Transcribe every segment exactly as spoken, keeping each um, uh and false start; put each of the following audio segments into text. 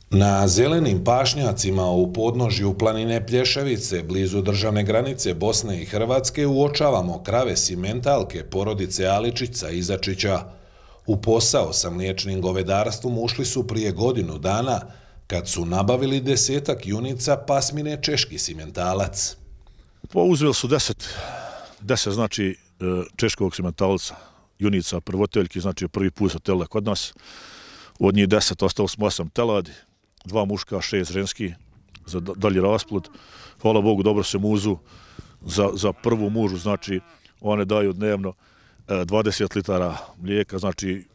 Na zelenim pašnjacima u podnožju planine Plješevice, blizu državne granice Bosne i Hrvatske, uočavamo krave simentalke porodice Aličića Izačića. U posao sa mliječnim govedarstvom ušli su prije godinu dana, kad su nabavili desetak junica pasmine Češki simentalac. Pa uzeli su deset, deset znači češkog simentalca, junica prvoteljki, znači prvi put sa tele kod nas. Od njih deset ostalo smo osam teladi, dva muška, šest ženski za dalji rasplod. Hvala Bogu, dobro se muzu za, za prvu mužu, znači one daju dnevno dvadeset litara mlijeka, znači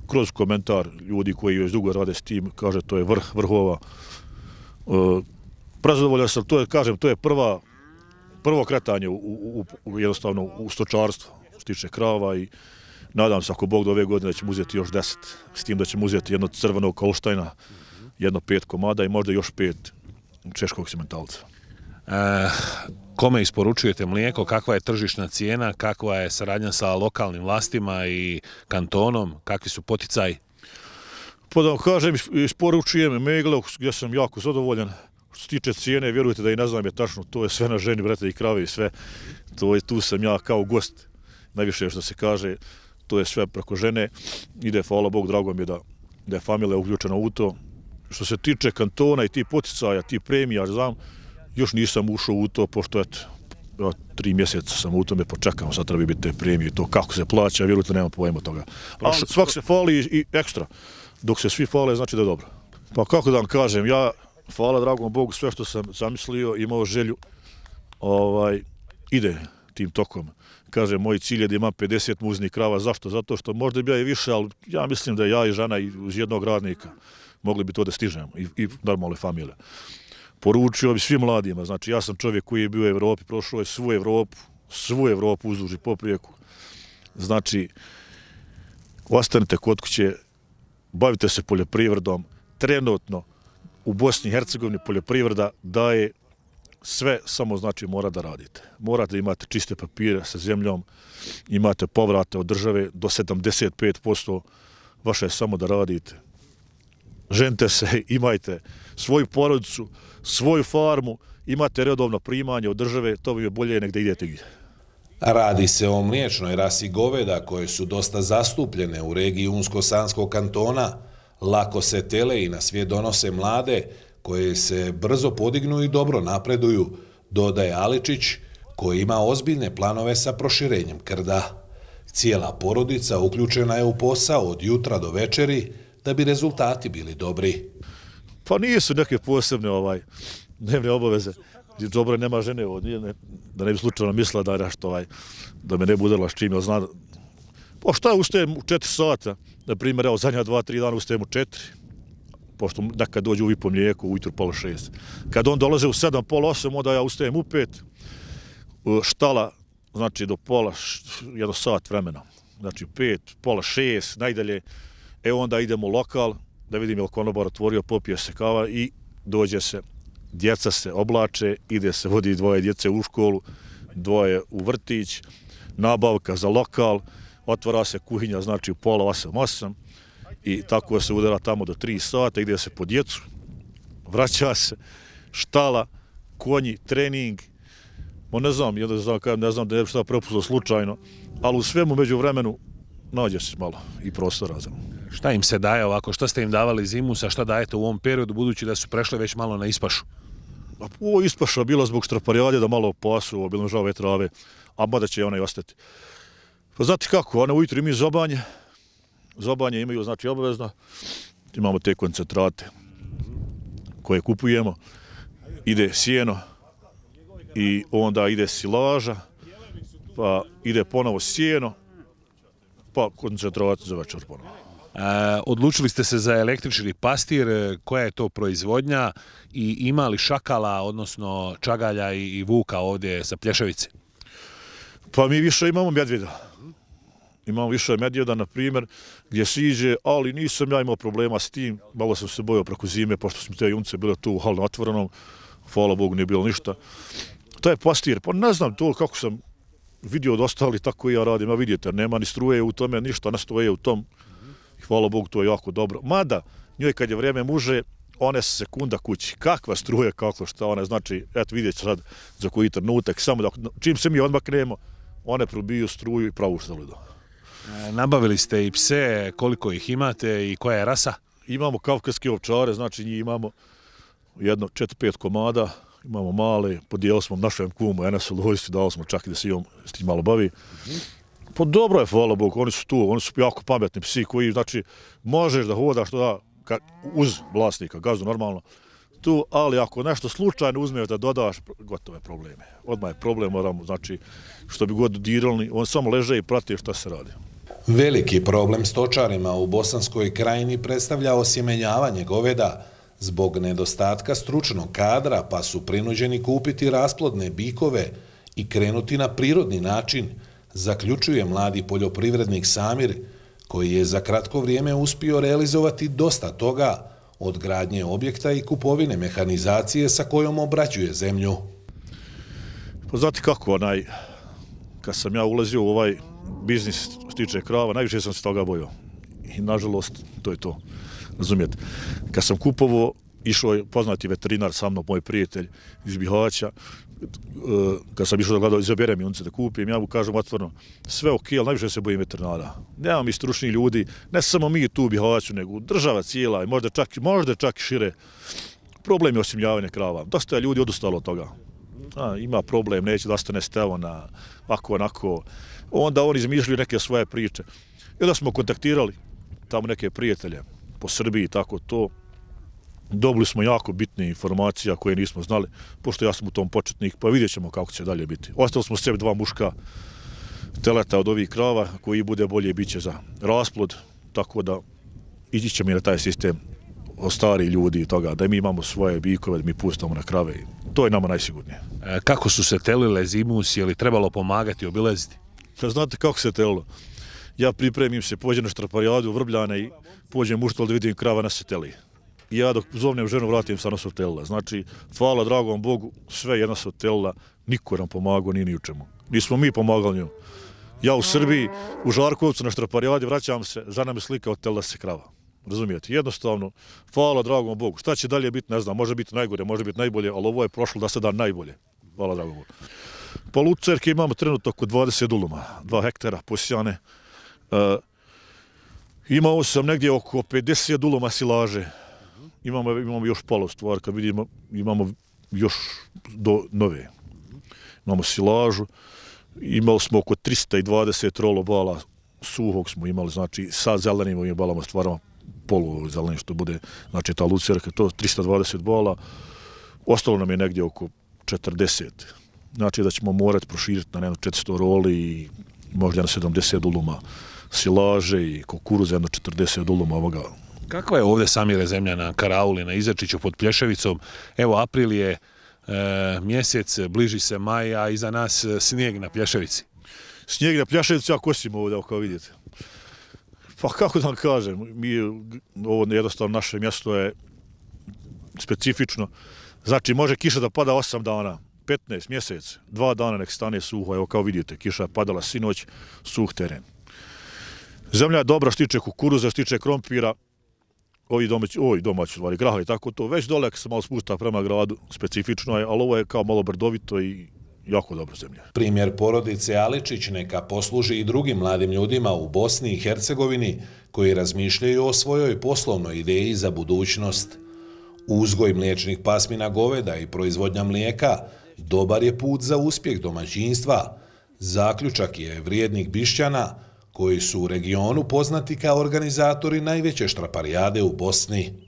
kroz komentar ljudi koji već dugo rade s tim, kaže to je vrh vrhova. E, prezadovoljan sam, to je, kažem, to je prva, prvo kretanje u, u, u, jednostavno u stočarstvu, što se tiče krava i nadam se ako Bog do ove godine da ćemo uzeti još deset, s tim da ćemo uzeti jedno crvenog Kolštajna, jedno pet komada i možda još pet češkog simentalca. E, kome isporučujete mlijeko, kakva je tržišna cijena, kakva je saradnja sa lokalnim vlastima i kantonom, kakvi su poticaji? Pa da vam kažem, isporučujem Megle gdje sam jako zadovoljan. Što se tiče cijene, vjerujte da i ne znam je tačno, to je sve na ženi, brate i krave i sve. To je, tu sam ja kao gost, najviše što se kaže, to je sve preko žene. Ide, hvala Bogu, drago mi je da, da je familija uključena u to. Što se tiče kantona i ti poticaja, ti premija, znam, još nisam ušao u to, pošto eto, tri mjeseca sam u tome, počekam, sad treba biti te premije, to kako se plaća, vjerujte, nemam pojma toga. Ali svak se fali i ekstra. Dok se svi fale, znači da je dobro. Pa kako da vam kažem, ja, hvala dragom Bogu, sve što sam zamislio, imao želju, ovaj, ide tim tokom. Kažem, moj cilj je da imam pedeset muznih krava. Zašto? Zato što možda bi ja i više, ali ja mislim da ja i žena i uz jednog radnika mogli bi to da stižemo i, i normalne familije. Poručio bi svim mladima, znači ja sam čovjek koji je bio u Evropi, prošao je svu Evropu, svu Evropu uzduž i poprijeku. Znači, ostanite kod kuće, bavite se poljoprivredom. Trenutno u Bosni i Hercegovini poljoprivreda daje sve, samo znači mora da radite. Morate da imate čiste papire sa zemljom, imate povrate od države do sedamdeset pet posto, vaše je samo da radite. Ženite se, imajte svoju porodicu, svoju farmu, imate redovno primanje od države, to bi je bolje nek da idete gdje. Radi se o mliječnoj rasi goveda koje su dosta zastupljene u regiji Unsko-Sanskog kantona. Lako se tele i na svijet donose mlade, koje se brzo podignu i dobro napreduju, dodaje Aličić, koji ima ozbiljne planove sa proširenjem krda. Cijela porodica uključena je u posao od jutra do večeri, da bi rezultati bili dobri. Pa nisu neke posebne ovaj, dnevne obaveze. Dobro, nema žene ovdje, ne, da ne bi slučajno mislila da je nešto, ovaj, da me ne bude udrla s čim, zna. Pa šta, ustajem u četiri sata, na primjer, evo, zadnja dva, tri dana ustajem u četiri, pošto nekad dođe uvijek po mlijeku, ujutru pola šest. Kad on dolaze u sedam, pola osam, onda ja ustajem u pet, štala, znači do pola, jedno sat vremena, znači pet, pola šest, najdalje. E onda idemo u lokal, da vidim je li konobar otvorio, popije se kava i dođe se, djeca se oblače, ide se, vodi dvoje djece u školu, dvoje u vrtić, nabavka za lokal, otvara se kuhinja, znači u pola osam, osam i tako se udara tamo do tri sata, ide se po djecu, vraća se, štala, konji, trening, mo ne znam, ne znam, ne znam da je šta propustilo slučajno, ali u svemu među vremenu nađe se malo i prostora za. Šta im se daje ovako? Šta ste im davali zimusa? Šta dajete u ovom periodu, budući da su prešli već malo na ispašu? Ovo ispaša bila zbog štraparijade da malo pasu, obilnožave trave, a mada će ona i ostati. Pa znate kako, one ujutru imaju zobanje, zobanje imaju znači obavezno, imamo te koncentrate koje kupujemo, ide sjeno i onda ide silaža, pa ide ponovo sjeno, pa koncentrat za večer ponovo. E, odlučili ste se za električni pastir, koja je to proizvodnja i ima li šakala, odnosno čagalja i, i vuka ovdje sa Plješevice? Pa mi više imamo medvjeda. Imamo više medvjeda, na primjer, gdje se iđe, ali nisam ja imao problema s tim. Malo sam se bojao preko zime, pošto smo te junce bile tu u halno otvorenom. Hvala Bogu, nije bilo ništa. To je pastir, pa ne znam to kako sam vidio od ostali, tako i ja radim. Ja vidite, nema ni struje u tome, ništa ne stoje u tom. Hvala Bogu, to je jako dobro. Mada, njoj kad je vrijeme muže, one su sekunda kući. Kakva struja, kako šta one, znači, eto vidjet ću sad za koji trenutak, samo da, čim se mi odmaknemo, one probiju struju i pravu što idu. E, nabavili ste i pse, koliko ih imate i koja je rasa? Imamo kavkaske ovčare, znači njih imamo jedno četiri pet komada, imamo male, podijeli smo našem kumu, Enesu Lojsi, dali smo čak i da se imam s tim malo bavi. Pa dobro je, hvala Bogu, oni su tu, oni su jako pametni psi koji, znači, možeš da hodaš da, ka, uz vlasnika, gazdu normalno, tu, ali ako nešto slučajno uzmeš da dodaš, gotove probleme. Odmah je problem, moramo, znači, što bi god dirali, on samo leže i prati šta se radi. Veliki problem stočarima u Bosanskoj krajini predstavlja osjemenjavanje goveda zbog nedostatka stručnog kadra, pa su prinuđeni kupiti rasplodne bikove i krenuti na prirodni način, zaključuje mladi poljoprivrednik Samir, koji je za kratko vrijeme uspio realizovati dosta toga, od gradnje objekta i kupovine mehanizacije sa kojom obrađuje zemlju. Pa znate kako, onaj, kad sam ja ulazio u ovaj biznis što tiče krava, najviše sam se toga bojao. I nažalost, to je to. Razumijete. Kad sam kupovao, išao je poznati veterinar sa mnom, moj prijatelj iz Bihaća. Kad sam išao da gledao, izaberem i unce da kupim, ja mu kažem otvorno, sve ok, ali najviše se bojim veterinara. Nema mi stručnih ljudi, ne samo mi tu u Bihaću, nego država cijela i možda čak, možda čak i šire. Problem je osimljavanje krava. Dosta je ljudi odustalo od toga. A, ima problem, neće da ostane stevo na ovako, onako. Onda oni izmišljaju neke svoje priče. I onda smo kontaktirali tamo neke prijatelje po Srbiji, tako to. Dobili smo jako bitne informacije koje nismo znali, pošto ja sam u tom početnik, pa vidjet ćemo kako će dalje biti. Ostali smo sebi dva muška teleta od ovih krava, koji bude bolje bit će za rasplod, tako da ići ćemo i na taj sistem od starih ljudi i toga, da mi imamo svoje bikove, da mi pustamo na krave. To je nama najsigurnije. E, kako su se telile zimus, je li trebalo pomagati, obilaziti? Znate kako se telilo? Ja pripremim se, pođem na štraparijadu u Vrbljane i pođem u štval da vidim krava na se teli. I ja dok zovnem ženu vratim, stvarno se otelila. Znači, hvala dragom Bogu, sve jedna se otelila, niko nam pomagao, ni ni u čemu. Nismo mi pomagali njom. Ja u Srbiji, u Žarkovcu na štraparijadi vraćam se, žena mi slika, otelila se krava. Razumijete? Jednostavno, hvala dragom Bogu. Šta će dalje biti, ne znam, može biti najgore, može biti najbolje, ali ovo je prošlo da se da najbolje. Hvala dragom Bogu. Pa lucerke imamo trenutno oko dvadeset uluma, dva hektara posijane. Uh, imao sam negdje oko pedeset uluma silaže. Imamo, imamo još pola stvar, kad vidimo, imamo još do nove. Imamo silažu, imali smo oko tristo dvadeset rolo bala suhog smo imali, znači sa zelenim ovim balama stvaramo polu zelenim što bude, znači ta lucerka, to tristo dvadeset bala, ostalo nam je negdje oko četrdeset. Znači da ćemo morati proširiti na jedno četiristo roli i možda na sedamdeset uluma silaže i kukuruza, jedno četrdeset uluma ovoga. Kakva je ovdje Samire zemlja na Karauli, na Izačiću pod Plješevicom? Evo, april je e, mjesec, bliži se maj, a iza nas snijeg na Plješevici. Snijeg na Plješevici, ja kosim ovdje, kao vidite. Pa kako da vam kažem, mi, ovo jednostavno naše mjesto je specifično. Znači, može kiša da pada osam dana, petnaest mjesec, dva dana nek stane suho, evo kao vidite, kiša je padala sinoć, suh teren. Zemlja je dobra što tiče kukuruza, što tiče krompira, ovi domaći, ovi domaći stvari, graha i tako to. Već dole se malo spušta prema gradu, specifično je, ali ovo je kao malo brdovito i jako dobra zemlja. Primjer porodice Aličić neka posluži i drugim mladim ljudima u Bosni i Hercegovini koji razmišljaju o svojoj poslovnoj ideji za budućnost. Uzgoj mliječnih pasmina goveda i proizvodnja mlijeka dobar je put za uspjeh domaćinstva. Zaključak je vrijednik Bišćana, koji su u regionu poznati kao organizatori najveće štraparijade u Bosni.